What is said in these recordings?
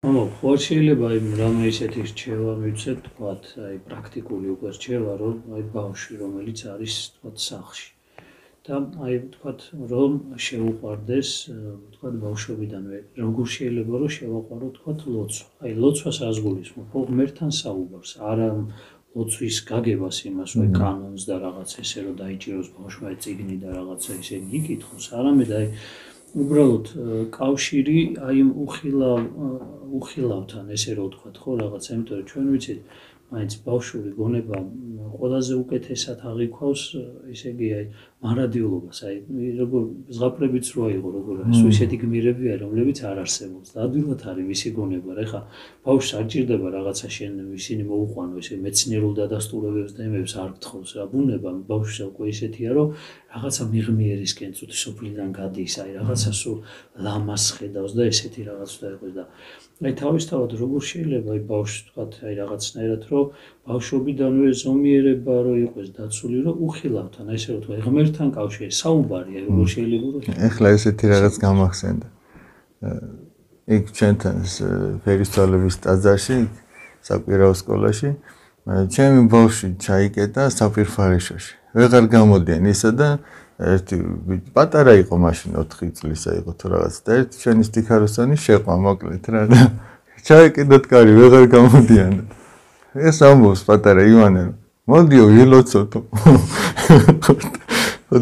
ხო შეიძლება იმ რამე ისეთი რჩევა მივცეთ, თქვათ, აი პრაქტიკული უკვე რჩევა, რომ აი ბავშვი, რომელიც არის, თქვათ, სახლში. და აი თქვათ, რომ შეუყვარდეს, თქვათ, ბავშვობიდანვე, როგორ შეიძლება რომ შევაყვარო, თქვათ, ლოცვა. აი ლოცვას რას გულისხმობ? ხო, ღმერთთან საუბარს, არა ლოცვის გაგებას იმას, რომ კანონს და რაღაც ესე რომ დაიჭიროს ბავშვმა წიგნი და რაღაცა ესე იკითხოს, არამედ აი უბრალოდ კავშირი აი უხილავთან ესე რომ ვთქვათ, ხო, რაღაცა, იმიტომ რომ ჩვენ ვიცით, მაინც ბავშვური გონება ყველაზე უკეთესად აღიქვავს, ესე იგი, აი მარადიულობას, აი როგორ ზღაპრებიც რო აიღო, როგორ არის, ისეთი გმირები არის, რომლებიც არ არსებობს. და ადვილად არის მისი გონება, რა ხა, ბავშვს არ ჭირდება რაღაცა შენ ისინი მოუყვანო, ესე მეცნიერულ დადასტურებებს და იმებს არ გთხოვს რა. ბუნება ბავშვს უკვე ისეთია, რომ რაღაცა მიღმიერისკენ წუთი სოფლიდან გადის, აი რაღაცა სულ ლამას ხედავს და ესეთი რაღაც უნდა იყოს და აი თავისთავად როგორ შეიძლება აი ბავშვს თქვათ აი რაღაცნაირად რომ ბავშვობიდანვე ზომიერება რო იყოს დაცული რომ უხილავთან აი ესე რომ თქვა ღმერთთან კავშირი საუბარი აი როგორ შეიძლება რომ ეხლა ესეთი რაღაც გამახსენდა იქ ჩვენთან ფერისცვალების ტაძარში საკვირაო სკოლაში ჩემი ბავშვი ჩაიკეტა საფირფარეშოში ვეღარ გამოდიან ისა და ერთი პატარა იყო მაშინ 4 წლისა იყო თუ რაღაც და ერთი ჩვენი სტიქაროსანი შეყვა მოკლედ რა და ჩაიკეტოთ კარი ვეღარ გამოდიან ეს ამბობს პატარა ივანე მოდიო ილოცოთო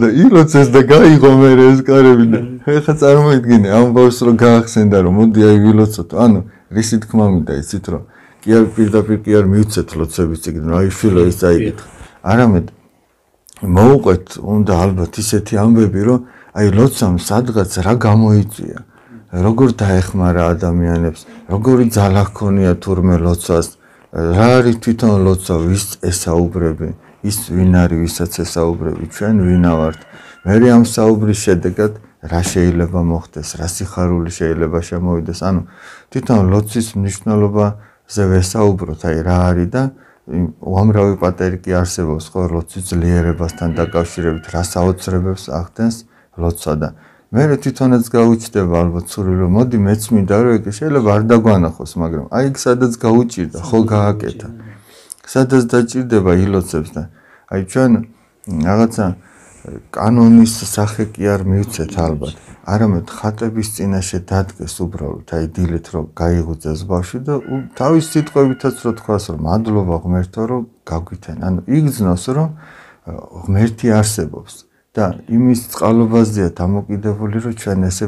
და ილოცეს და გაიღო მე ეს კარები და ეხა წარმოიდგინე ამ ბავშვს რო გაახსენდა რომ მოდი აი ვილოცოთო ანუ რისი თქმა მინდა იცით რომ კი არ პირდაპირ კი არ მივცეთ ლოცვების წიგნი აი შვილო ის წაიკითხა არამედ მოუყვეთ უნდა ალბათ ისეთი ამბები რომ აი ლოცვამ სადღაც რა გამოიწვია როგორ დაეხმარა ადამიანებს როგორი ძალა ჰქონია თურმე ლოცვას რა არის თვითონ ლოცვა ვის ესაუბრები ის ვინ არის ვისაც ესაუბრები ჩვენ ვინა ვართ მე ამ საუბრის შედეგად რა შეიძლება მოხდეს რა სიხარული შეიძლება შემოვიდეს ანუ თვითონ ლოცვის მნიშვნელობაზე ვესაუბროთ აი რა არის და უამრავი პატერი კი არსებობს ხო ლოცვის ძლიერებასთან დაკავშირებით რა საოცრებებს ახდენს ლოცვა და მე თვითონაც გაუჩნდება ალბათ სული რომ მოდი მეც მინდა რომ ეგ შეიძლება არ დაგვანახოს მაგრამ აი იქ სადაც გაუჭირდა ხო გააკეთა სადაც დაჭირდება ილოცებს და აი ჩვენ რაღაცა კანონის სახე კი არ მივცეთ ალბათ არამედ ხატების წინაშე დადგეს უბრალოდ აი დილით რომ გაიღუძეს ბავშვი და თავის სიტყვებითაც რო თქვას რომ მადლობა ღმერთო რომ გაგვითენ ანუ იგრძნოს რომ ღმერთი არსებობს და იმის წყალობაზეა დამოკიდებული რომ ჩვენ ესე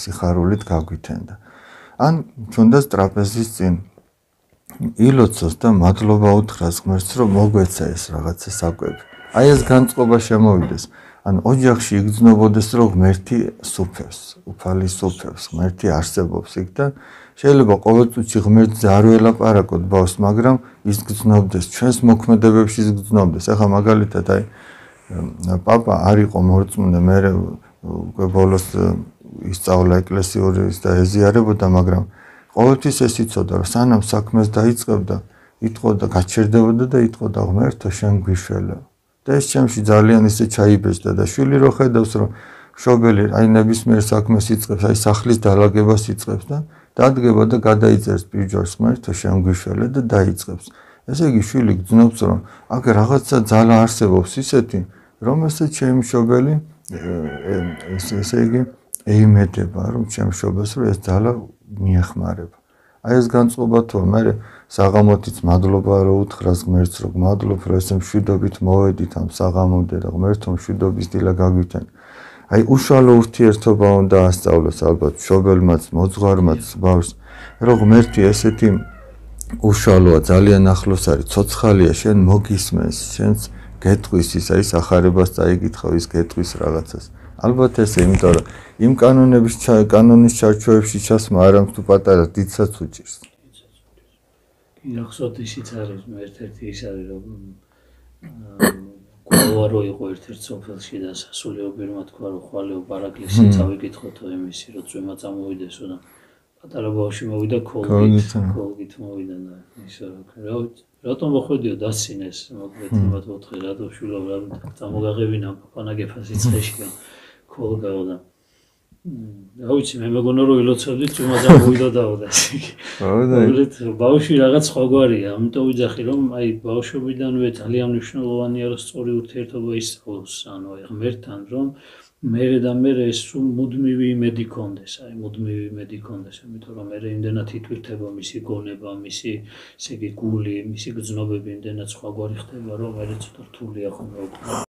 სიხარულით გაგვითენ და ან თუნდაც ტრაპეზის წინ ილოცოს და მადლობა უთხრას ღმერთს რომ მოგვეცა ეს რაღაცა საკვები აი ეს განწყობა შემოვიდეს ან ოჯახში იგრძნობოდეს რომ ღმერთი სუფევს, უფალი სუფევს, ღმერთი არსებობს იქ და შეიძლება ყოველწუთში ღმერთზე არ ველაპარაკოთ ბავშვს, მაგრამ ის გრძნობდეს ჩვენს მოქმედებებში ის გრძნობდეს. ახლა მაგალითად აი პაპა არ იყო მორწმუნე, მე უკვე ბოლოს ისწავლა ეკლესიური და ეზიარებოდა, მაგრამ ყოველთვის ეს იცოდა რომ სანამ საქმეს დაიწყებდა, იტყოდა, გაჩერდებოდა და იტყოდა ღმერთო შენ გვიშველე. და ეს ჩემში ძალიან ისე ჩაიბეჭდა და შვილი რო ხედავს რომ მშობელი აი ნებისმიერ საქმეს იწყებს აი სახლის დალაგებას იწყებს და დადგება და გადაიწერს პირჯვარს ღმერთო შენ გვიშველე და დაიწყებს ესე იგი შვილი გძნობს რომ აქ რაღაცა ძალა არსებობს ისეთი რომელსაც ჩემი მშობელი ესე იგი ეიმედება რომ ჩემი მშობელს რომ ეს ძალა მიეხმარება აი ეს განწყობა თუ მე საღამოთიც მადლობა რო უთხრას ღმერთს რომ მადლობ რომ ესე მშვიდობით მოვედით ამ საღამომდე და ღმერთო მშვიდობის დილა გაგვითენ აი უშუალო ურთიერთობა უნდა ასწავლოს ალბათ მშობელმაც მოძღვარმაც ბავშვს რომ ღმერთი ესეთი უშუალოა ძალიან ახლოს არის ცოცხალია შენ მოგისმენს შენს გეტყვის ის აი სახარებას წაიკითხავ ის გეტყვის რაღაცას ალბათ ესე იმიტომ რომ იმ კანონის ჩარჩოებში ჩასმა არამც თუ პატარა დიდსაც უჭირს ნახსოვთ ისიც არის ერთ-ერთი ის არის რომ ყოველვარო იყო ერთ-ერთ სოფელში და სასულიერო პირმა თქვა რომ ხვალეო პარაკლისი წავიკითხოთო იმისი რომ წვიმა წამოვიდესო და პატარა ბავშვი მოვიდა კოლგით მოვიდა და ისე რომ რატომ მოხვედიო დასცინეს მოკლედ იმათ ოთხი რატო შვილო რა წამოგაღებინა პაპანაგეფას იცხეში კოლგაო და რა ვიცი, მე მეგონა რომ ილოცავდით, თუმცა მოვიდოდაო და ესე იგი. უბრალოდ ბავშვი რაღაც სხვაგვარია, ამიტომ ვიძახი რომ აი ბავშვობიდანვე ძალიან მნიშვნელოვანია რომ სწორი ურთიერთობა ისწავლოს, ანუ აი ღმერთთან რომ მერე და მერე ეს სულ მუდმივი იმედი კონდეს, აი მუდმივი იმედი კონდეს, იმიტომ რომ მერე იმდენად ითვირთება მისი გონება, მისი ესე იგი გული, მისი გრძნობები იმდენად სხვაგვარი ხდება, რომ მერე ცოტა რთულია ხოლმე.